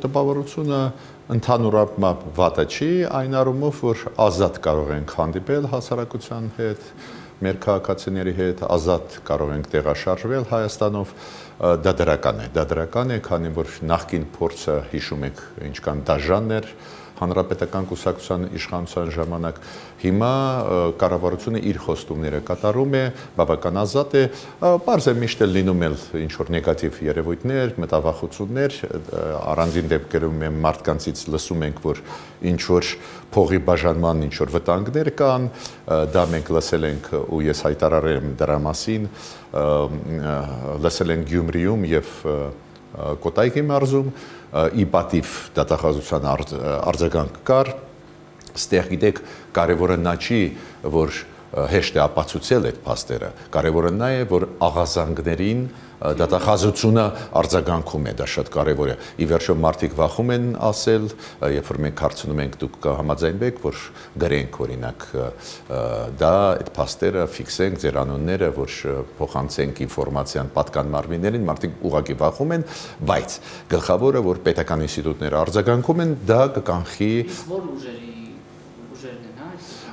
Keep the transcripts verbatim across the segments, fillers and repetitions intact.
տպավորությունը ընդհանուրապես վատը չի, այն առումով, որ ազատ կարող ենք հանդիպել հասարակության հետ, մեր քաղաքացիների հետ, ազատ կարող ենք տեղաշարժվել Հայաստանով, դա դրական է, դա դրական է, քանի որ նախկին փորձը հիշում եք ինչքան դաժան էր հանրապետական կուսակցության իշխանության ժամանակ, հիմա կառավարությունը իր խոստումները կատարում է, բավական ազատ է, պարզ է միշտ լինում էլ ինչ-որ նեգատիվ երևույթներ, մտավախություններ, առանձին դեպքերում մենք մարդկանցից լսում ենք, որ ինչ-որ փողի բաժանման ինչ-որ վտանգներ կան, դա մենք լսել ենք ու ես հայտարարել եմ դրա մասին, լսել ենք Գյումրիում եւ Կոտայքի մարզում, ի պատիվ դատախազության արձագանք կար, ստեղ գիտեք, կարևորը նա չի, որ հեշտ է ապացուցել այդ փաստերը, կարևորը նա է, որ աղազանգներին դատախազությունը արձագանքում է, դա շատ կարևոր է։ Ի վերջո մարդիկ վախում են ասել, երբ որ մենք հարցնում ենք դուք կհամաձայնվեք, որ գրենք օրինակ դա այդ փաստերը ֆիքսենք ձեր անունները, որ փոխանցենք ինֆորմացիան պատկան մարմիններին, մարդիկ ուղղակի վախում են, բայց գլխավորը, որ պետական ինստիտուտները արձագանքում են, դա կկանխի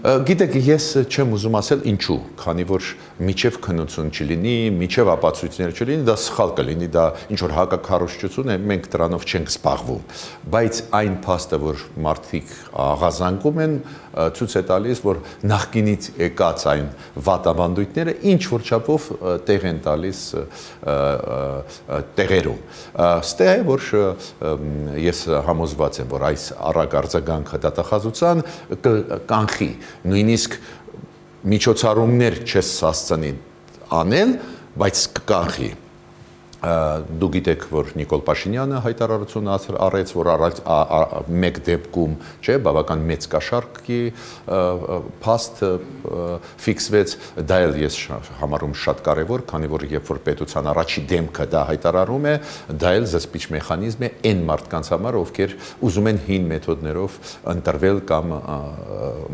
Գիտեք, ես չեմ ուզում ասել ինչու, քանի որ միջև քննություն չլինի, միջև ապացույցներ չլինի, դա սխալ կլինի, դա ինչ-որ հակաքարոզչություն է, մենք դրանով չենք զբաղվում, բայց այն փաստը, որ մարդիկ աղազանգում են, ցույց է տալիս, որ նախկինից եկած այն վատավանդույթները ինչ-որ չափով տեղ են տալիս տեղերում։ Ստե է, որ ես համոզված եմ, որ այս առակ արձագանքը դատախազության կանխի նույնիսկ միջոցառումներ չես հասցնի անել, բայց կկանխի։ Դու գիտեք, որ Նիկոլ Փաշինյանը հայտարարություն արեց, որ մեկ դեպքում, չէ, բավական մեծ կաշառքի փաստ ֆիքսվեց, դա էլ ես համարում շատ կարևոր, քանի որ երբ որ պետության առաջի դեմքը դա հայտարարում է, դա էլ զսպիչ մեխանիզմ է այն մարդկանց համար, ովքեր ուզում են հին մեթոդներով ընտրվել կամ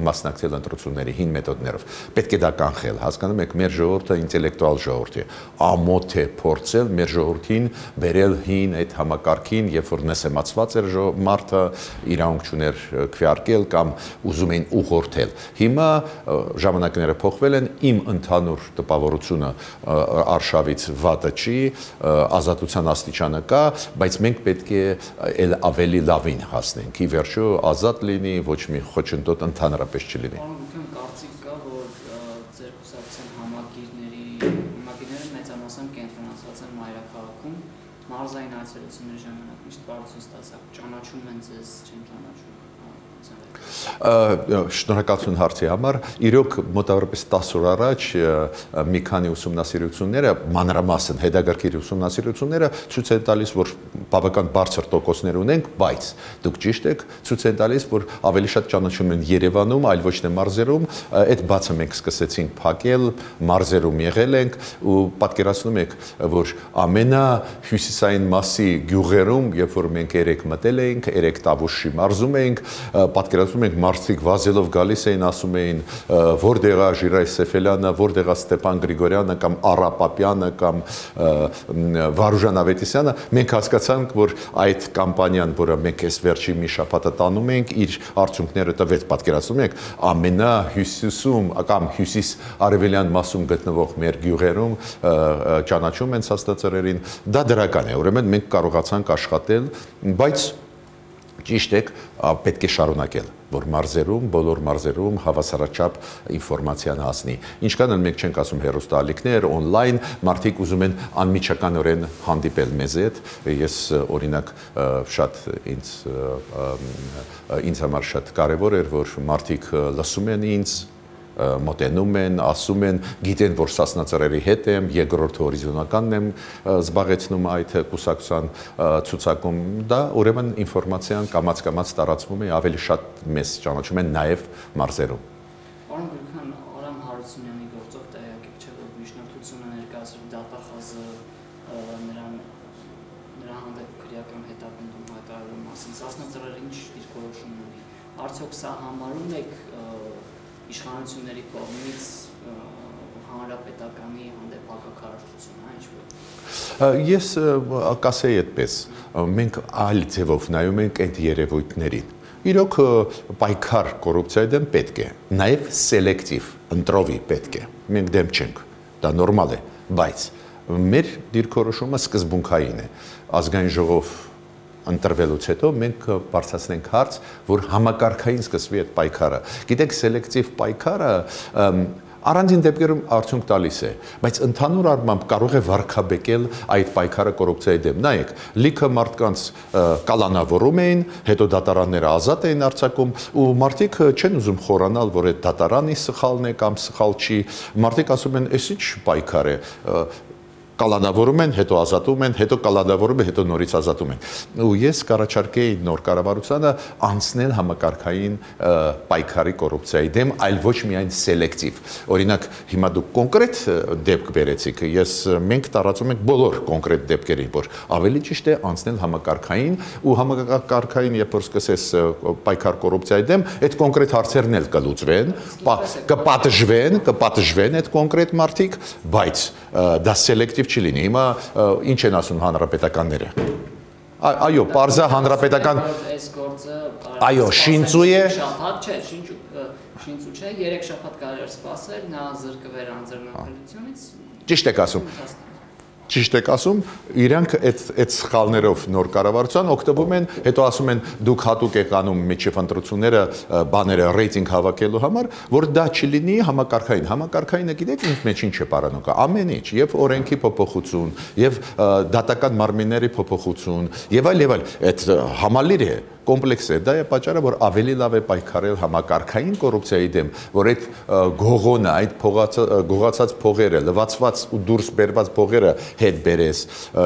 մասնակցել ընտրությունների հին մեթոդներով։ Պետք է դա կանխել, հասկանում եք, մեր ժողովուրդը ինտելեկտուալ ժողովուրդ է, ամոթ է փորձել մեր ժողովրդին բերել հին այդ համակարգին, երբ որ նսեմացված էր մարդը, իրավունք չուներ քվեարկել կամ ուզում էին ուղղորդել։ Հիմա ժամանակները փոխվել են, իմ ընդհանուր տպավորությունը արշավից վատը չի, ազատության աստիճանը կա, բայց մենք պետք է էլ ավելի լավին հասնենք, ի վերջո ազատ լինի, ոչ մի խոչընդոտ ընդհանրապես չլինի։ Մարզային այցելությունների ժամանակ միշտ բարություն ստացակ, ճանաչում են ձեզ, չեն ճանաչում։ Շնորհակալություն հարցի համար, իրոք մոտավորապես տասը օր առաջ մի քանի ուսումնասիրությունները, մանրամասն հետագրքիր ուսումնասիրությունները ցույց են տալիս, որ բավական բարձր տոկոսներ ունենք, բայց դուք ճիշտ եք, ցույց են տալիս, որ ավելի շատ ճանաչում են Երևանում, այլ ոչ թե մարզերում, այդ բացը մենք սկսեցինք փակել, մարզերում եղել ենք ու պատկերացնում եք, որ ամենահյուսիսային մասի գյուղերում, երբ որ մենք երեք մտել էինք, երեք Տավուշի մարզում էինք, պատկերացնում ենք մարդիկ վազելով գալիս էին, ասում էին, որտեղ է Ժիրայ Սեֆելյանը, որտեղ է Ստեփան Գրիգորյանը կամ Արա Պապյանը կամ Վարուժան Ավետիսյանը, մենք հասկացանք, որ այդ կամպանիան, որը մենք այս վերջի մի շաբաթը տանում ենք, իր արդյունքները տվեց, պատկերացնում եք, ամենահյուսիսում կամ հյուսիս արևելյան մասում գտնվող մեր գյուղերում ճանաչում են աստծածրերին, դա դրական է, ուրեմն մենք կարողացանք աշխատել, բայց ճիշտ եք, պետք է շարունակել, որ մարզերում, բոլոր մարզերում հավասարաչափ ինֆորմացիան հասնի։ Ինչքան էլ մենք չենք ասում հեռուստաալիքներ, օնլայն, մարդիկ ուզում են անմիջականորեն հանդիպել մեզ հետ, ես օրինակ շատ ինձ ինձ համար շատ կարևոր էր, որ մարդիկ լսում են ինձ, մոտենում են, ասում են, գիտեն, որ Սասնա հետ եմ, երկրորդ հորիզոնականն եմ զբաղեցնում այդ կուսակցության ցուցակում, դա ուրեմն ինֆորմացիան կամաց-կամաց տարածվում է, ավելի շատ մեզ ճանաչում են նաև մարզերում։ Պարոն Գրիգորյան, Արամ Հարությունյանի գործով տեղյակ եք, չէ՞ որ միջնորդությունը ներկայացրել դատախազը նրան նրա հանդեպ քրեական հետապնդում հայտարարելու մասին, Սասնա ինչ դիրքորոշում ունի, արդյոք սա համարում եք իշխանությունների կողմից հանրապետականի հանդեպ հակակարողությունը, ինչ-որ։ Ես կասեի այդպես, մենք այլ ձևով նայում ենք այդ երևույթներին։ Իրոք պայքար կոռուպցիայի դեմ պետք է, նաև սելեկտիվ, ընտրովի պետք է։ Մենք դեմ չենք, դա նորմալ է, բայց մեր դիրքորոշումը սկզբունքային է։ Ազգային ժողով ընտրվելուց հետո մենք բարձրացնենք հարց, որ համակարգային սկսվի այդ պայքարը։ Գիտեք, սելեկտիվ պայքարը առանձին դեպքերում արդյունք տալիս է, բայց ընդհանուր առմամբ կարող է վարկաբեկել այդ պայքարը կոռուպցիայի դեմ։ Նայեք, լիքը մարդկանց կալանավորում էին, հետո դատարանները ազատ էին արձակում, ու մարդիկ չեն ուզում խորանալ, որ այդ դատարանի սխալն է կամ սխալ չի։ Մարդիկ ասում են, «Էս ինչ պայքար է»։ Կալանավորում են, հետո ազատում են, հետո կալանավորում են, հետո նորից ազատում են։ Ու ես կառաջարկեի նոր կառավարությանը անցնել համակարգային պայքարի կոռուպցիայի դեմ, այլ ոչ միայն սելեկտիվ։ Օրինակ, հիմա դուք կոնկրետ դեպք բերեցիք, ես մենք տարածում ենք բոլոր կոնկրետ դեպքերին, որ ավելի ճիշտ է անցնել համակարգային, ու համակարգային, երբ որ սկսես պայքար կոռուպցիայի դեմ, այդ կոնկրետ հարցերն էլ կլուծվեն, կպատժվեն, կպատժվեն այդ կոնկրետ մարդիկ, բայց դա սելեկտիվ չի լինի։ Հիմա ինչ են ասում հանրապետականները։ Այո, պարզա հանրապետական այս գործը այո, շինծու է։ Շաբաթ չէ, շինծու չէ, երեք շաբաթ կարելի էր սպասել, նա զրկվեր անձեռնարկությունից։ Ճիշտ եք ասում։ Ճիշտ եք ասում, իրանք այդ այդ սխալներով նոր կառավարության օգտվում են, հետո ասում են դուք հատուկ եք անում միջև ընտրությունները բաները ռեյտինգ հավաքելու համար, որ դա չլինի համակարգային։ Համակարգայինը գիտեք ինձ մեջ ինչ է պարանոկա, ամեն ինչ, եւ օրենքի փոփոխություն, եւ դատական մարմինների փոփոխություն, եւ այլ եւ այլ, այդ համալիր է, կոմպլեքս է, դա է պատճառը, որ ավելի լավ է պայքարել համակարգային կոռուպցիայի դեմ, որ այդ գողոնը, այդ գողացած փողերը, լվացված ու դուրս բերված փողերը հետ բերես,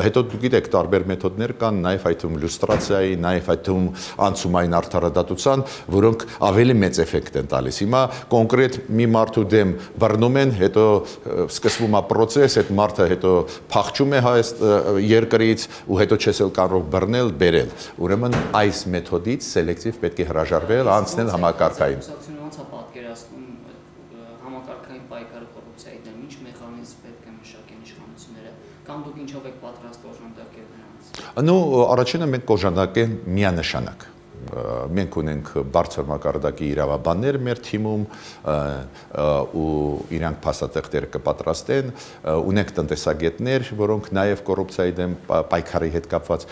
հետո դուք գիտեք տարբեր մեթոդներ կան, նաև այդ թվում լյուստրացիայի, նաև այդ թվում անցումային արդարադատության, որոնք ավելի մեծ էֆեկտ են տալիս։ Հիմա կոնկրետ մի մարդու դեմ բռնում են, հետո սկսվում է process, այդ մարդը հետո փախչում է հայ երկրից ու հետո չես էլ կարող բռնել, բերել։ Ուրեմն այս մեթոդից սելեկտիվ պետք է հրաժարվել, անցնել համակարգային։ Ոնց է պատկերացնում համակարգային պայքարը կոռուպցիայի դեմ, ինչ մեխանիզմ պետք է մշակեն իշխանությունները, կամ դուք ինչով եք պատրաստ օժանդակել նրանց։ Նու առաջինը մենք կօժանդակենք միանշանակ։ Մենք ունենք բարձր մակարդակի իրավաբաններ մեր թիմում ու իրանք փաստաթղթեր կպատրաստեն, ունենք տնտեսագետներ, որոնք նաև կոռուպցիայի դեմ պայքարի հետ կապված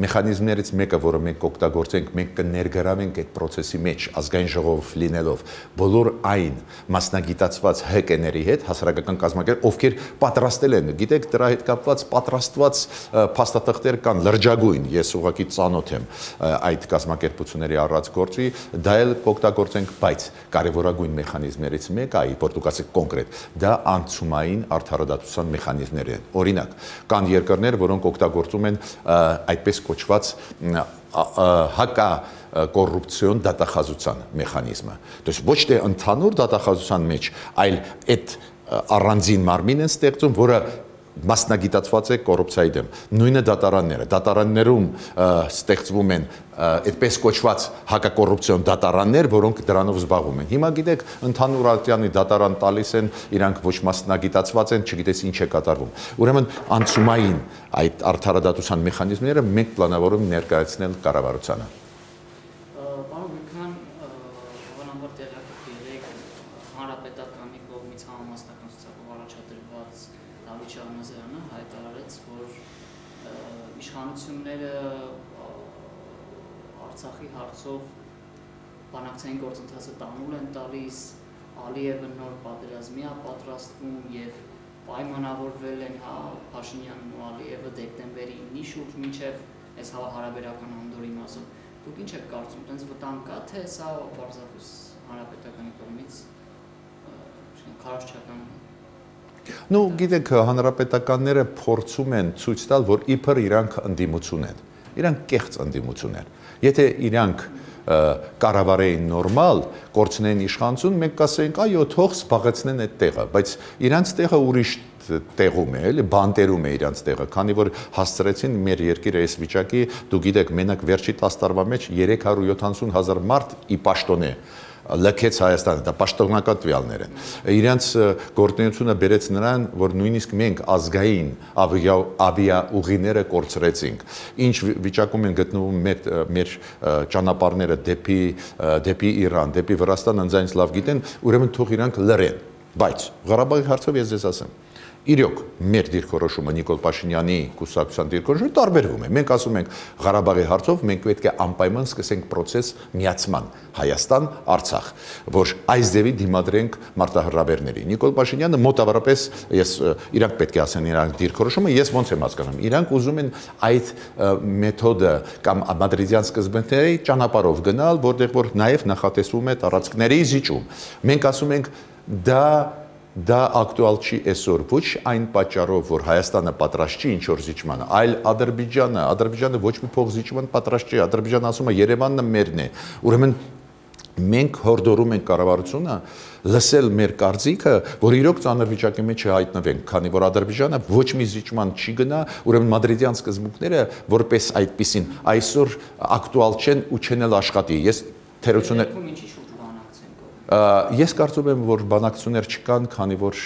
մեխանիզմներից մեկը, որը մենք կօգտագործենք, մենք կներգրավենք այդ process-ի մեջ ազգային ժողով լինելով բոլոր այն մասնագիտացված հեկեների հետ, հասարակական կազմակերպ, ովքեր պատրաստել են, գիտեք, դրա հետ կապված պատրաստված փաստաթղթեր կան լրջագույն, ես ուղղակի ծանոթ եմ այդ կազմակերպությունների առած գործի, դա էլ կօգտագործենք, բայց կարևորագույն մեխանիզմներից մեկը, այ որ դուք ասեք կոնկրետ, դա անցումային արդարադատության մեխանիզմներ են։ Օրինակ, կան երկրներ, որոնք օգտագործում են այդպես կոչված հակա կոռուպցիոն դատախազության մեխանիզմը։ То есть ոչ թե ընդհանուր դատախազության մեջ, այլ այդ առանձին մարմին են ստեղծում, որը մասնագիտացված է կոռուպցիայի դեմ։ Նույնը դատարանները, դատարաններում ստեղծվում են այդպես կոչված հակակոռուպցիոն դատարաններ, որոնք դրանով զբաղվում են։ Հիմա գիտեք, ընդհանուր ատյանի դատարան տալիս են, իրանք ոչ մասնագիտացված են, չգիտես ինչ է կատարվում։ Ուրեմն անցումային այդ արդարադատության մեխանիզմները մենք պլանավորում ներկայացնել կառավարությանը։ Պարոն Գուրքյան, հավանաբար տեղյակ եք հանրապետականի կողմից համամասնական ցուցակով առաջադրված Դավիթ Շահնազարյանը հայտարարեց, որ իշխանությունները Արցախի հարցով բանակցային գործընթացը տանուլ են տալիս, Ալիևը նոր պատերազմի է պատրաստվում եւ պայմանավորվել են հա Փաշինյանն ու Ալիևը դեկտեմբերի ինի շուրջ մինչեւ այս հարաբերական անդորի մասը։ Դուք ինչ եք կարծում, տենց վտանգ կա, թե սա պարզապես հանրապետականի կողմից քարոզչական։ Ну, գիտեք, հանրապետականները փորձում են ցույց տալ, որ իբր իրանք ընդդիմություն են։ Իրանք կեղծ ընդդիմություն են։ Եթե իրանք կառավարեին նորմալ, կորցնեն իշխանություն, մենք կասեինք, այո, թող զբաղեցնեն այդ տեղը, բայց իրանք տեղը ուրիշ տեղում է, էլի բանտերում է իրանք տեղը, քանի որ հասցրեցին մեր երկիրը այս վիճակի, դու գիտեք, մենակ վերջի տասը տարվա մեջ երեք հարյուր յոթանասուն հազար մարդ ի պաշտոն է լքեց Հայաստանը, դա պաշտոնական տվյալներ են։ Իրանց գործունեությունը բերեց նրան, որ նույնիսկ մենք ազգային ավիաուղիները կորցրեցինք։ Ինչ վիճակում են գտնվում մեր մեր ճանապարհները դեպի դեպի Իրան, դեպի Վրաստան, անձանց լավ գիտեն, ուրեմն թող իրանք լռեն։ Բայց Ղարաբաղի հարցով ես ձեզ ասեմ, իրոք մեր դիրքորոշումը Նիկոլ Փաշինյանի կուսակցության դիրքորոշումը տարբերվում է։ Մենք ասում ենք Ղարաբաղի հարցով մենք պետք է անպայման սկսենք process միացման Հայաստան, Արցախ, որ այս ձևի դիմադրենք մարտահրավերների։ Նիկոլ Փաշինյանը մոտավորապես ես իրանք պետք է ասեն իրանք դիրքորոշումը, ես ոնց եմ հասկանում։ Իրանք ուզում են այդ մեթոդը կամ մադրիդյան սկզբունքների ճանապարհով գնալ, որտեղ որ նաև նախատեսվում է տարածքների զիջում։ Մենք ասում ենք դա Դա ակտուալ չի այսօր ոչ այն պատճառով, որ Հայաստանը պատրաստ չի ինչ-որ զիջմանը, այլ Ադրբեջանը, Ադրբեջանը ոչ մի փող զիջման պատրաստ չի, Ադրբեջանը ասում է Երևանն մերն է, ուրեմն մենք հորդորում ենք կառավարությունը լսել մեր կարծիքը, որ իրոք ծանր վիճակի մեջ հայտնվենք, քանի որ Ադրբեջանը ոչ մի զիջման չի գնա, ուրեմն մադրիդյան սկզբունքները որպես այդպիսին այսօր ակտուալ չեն ու չեն էլ աշխատի։ Ես թերությունը Ես կարծում եմ, որ բանակցություններ չկան, քանի որ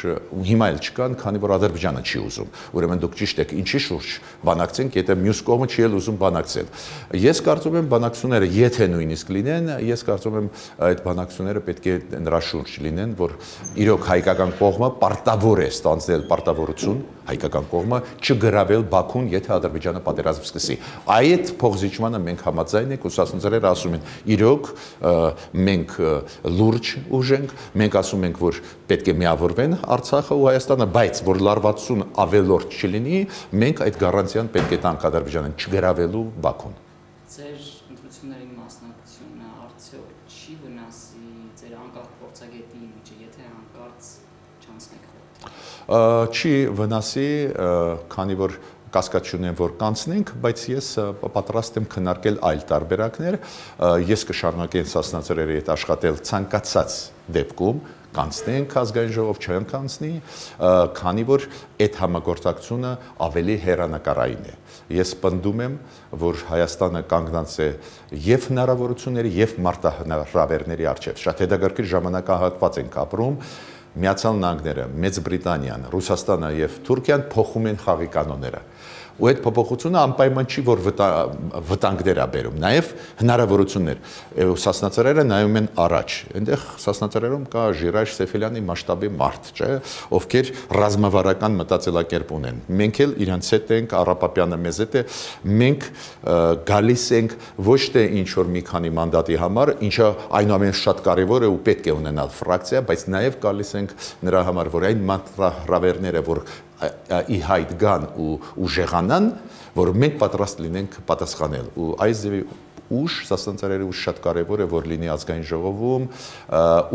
հիմա էլ չկան, քանի որ Ադրբեջանը չի ուզում։ Ուրեմն դուք ճիշտ եք, ինչի շուրջ բանակցենք, եթե մյուս կողմը չի էլ ուզում բանակցել։ Ես կարծում եմ բանակցությունները, եթե նույնիսկ լինեն, ես կարծում եմ այդ բանակցությունները պետք է նրա շուրջ լինեն, որ իրոք հայկական կողմը պարտավոր է ստանձնել պարտավորություն, հայկական կողմը չգրավել Բաքուն, եթե Ադրբեջանը պատերազմ սկսի։ Այդ փոխզիջմանը մենք համաձայն ենք, ուսուցիչները ասում են, իրոք մենք լուրջ ուժենք, մենք ասում ենք, որ պետք է միավորվեն Արցախը ու Հայաստանը, բայց որ լարվածություն ավելորդ չլինի, մենք այդ գարանտիան պետք է տանք Ադրբեջանին չգրավելու Բաքուն։ Ձեր ընտրությունների մասնակցությունը արդյոք չի վնասի ձեր անկախ փորձագետի միջը, եթե հանկարծ չանցնեք խորհրդ։ Չի վնասի, քանի որ կասկած չունեմ, որ կանցնենք, բայց ես պատրաստ եմ քննարկել այլ տարբերակներ, ես կշարունակեմ սասնաձրերի հետ աշխատել ցանկացած դեպքում, կանցնենք ազգային ժողով, չեն կանցնի, քանի որ այդ համագործակցությունը ավելի հեռանկարային է։ Ես պնդում եմ, որ Հայաստանը կանգնած է եւ հնարավորությունների եւ մարտահրավերների առջեւ։ Շատ հետաքրքիր ժամանակահատված ենք ապրում։ Միացյալ Նահանգները, Մեծ Բրիտանիան, Ռուսաստանը եւ Թուրքիան փոխում են խաղի կանոնները։ Ու այդ փոփոխությունը անպայման չի, որ վտանգներ է բերում, նաև հնարավորություններ։ Սասնաձրերը նայում են առաջ։ Այնտեղ Սասնաձրերում կա Ժիրայր Սեֆելյանի մասշտաբի մարդ, չէ, ովքեր ռազմավարական մտածելակերպ ունեն։ Մենք էլ իրանց հետ ենք, Առապապյանը մեզ հետ է, մենք գալիս ենք ոչ թե ինչ որ մի քանի մանդատի համար, ինչը այնուամենայնիվ շատ կարևոր է ու պետք է ունենալ ֆրակցիա, բայց նաև գալիս ենք նրա համար, որ այն մարտահրավերները, որ ի հայտ գան ու ու ժեղանան, որ մենք պատրաստ լինենք պատասխանել։ Ու այս ձևի ուժ, սասնաձրերի ուժ շատ կարևոր է, որ լինի ազգային ժողովում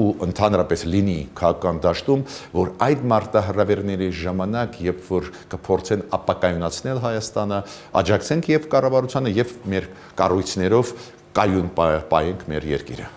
ու ընդհանրապես լինի քաղաքական դաշտում, որ այդ մարտահրավերների ժամանակ, երբ որ կփորձեն ապակայունացնել Հայաստանը, աջակցենք եւ կառավարությանը եւ մեր կառույցներով կայուն պահենք մեր երկիրը։